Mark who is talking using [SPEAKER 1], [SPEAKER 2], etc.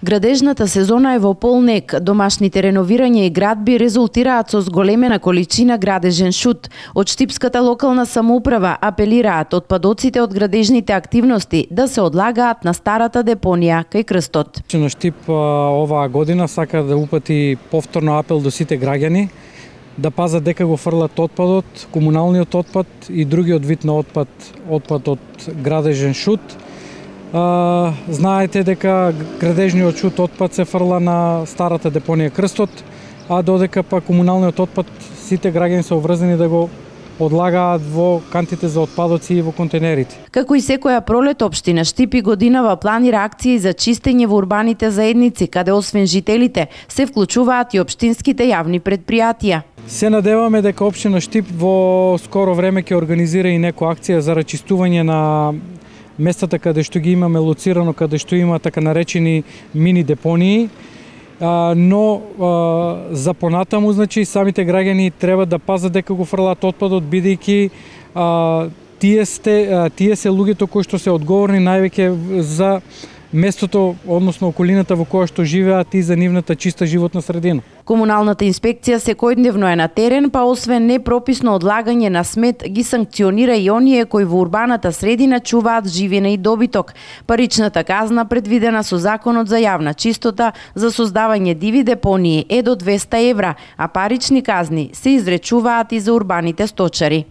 [SPEAKER 1] Градежната сезона е во полнек. Домашните реновирања и градби резултираат со зголемена количина градежен шут. Од штипската локална самоуправа апелираат отпадоците од градежните активности да се одлагаат на старата депонија кај крстот.
[SPEAKER 2] На Штип оваа година сака да упати повторно апел до сите граѓани да пазат дека го фрлат отпадот, комуналниот отпад и другиот вид на отпад од градежен шут. Знаете дека градежниот шут отпад се фрла на старата депонија Крстот, а додека па комуналниот отпад сите граѓани се обврзани да го одлагаат во кантите за отпадоци и во контейнерите.
[SPEAKER 1] Како и секоја пролет, општина Штип и годинава планира акции за чистење во урбаните заедници, каде освен жителите се вклучуваат и општинските јавни предпријатија.
[SPEAKER 2] Се надеваме дека општина Штип во скоро време ќе организира и некоја акција за рачистување на местата каде што ги имаме лоцирано, каде што има така наречени мини депонии, но за понатаму, значи, самите граѓани треба да пазат дека го фрлаат отпадот, бидејќи тие се луѓето кои што се одговорни највеќе за местото, односно околината во која што живеат и за нивната чиста животна средина.
[SPEAKER 1] Комуналната инспекција секојдневно е на терен, па освен непрописно одлагање на смет, ги санкционира и оние кои во урбаната средина чуваат живина и добиток. Паричната казна предвидена со Законот за јавна чистота за создавање диви депонии е до 200 евра, а парични казни се изречуваат и за урбаните сточари.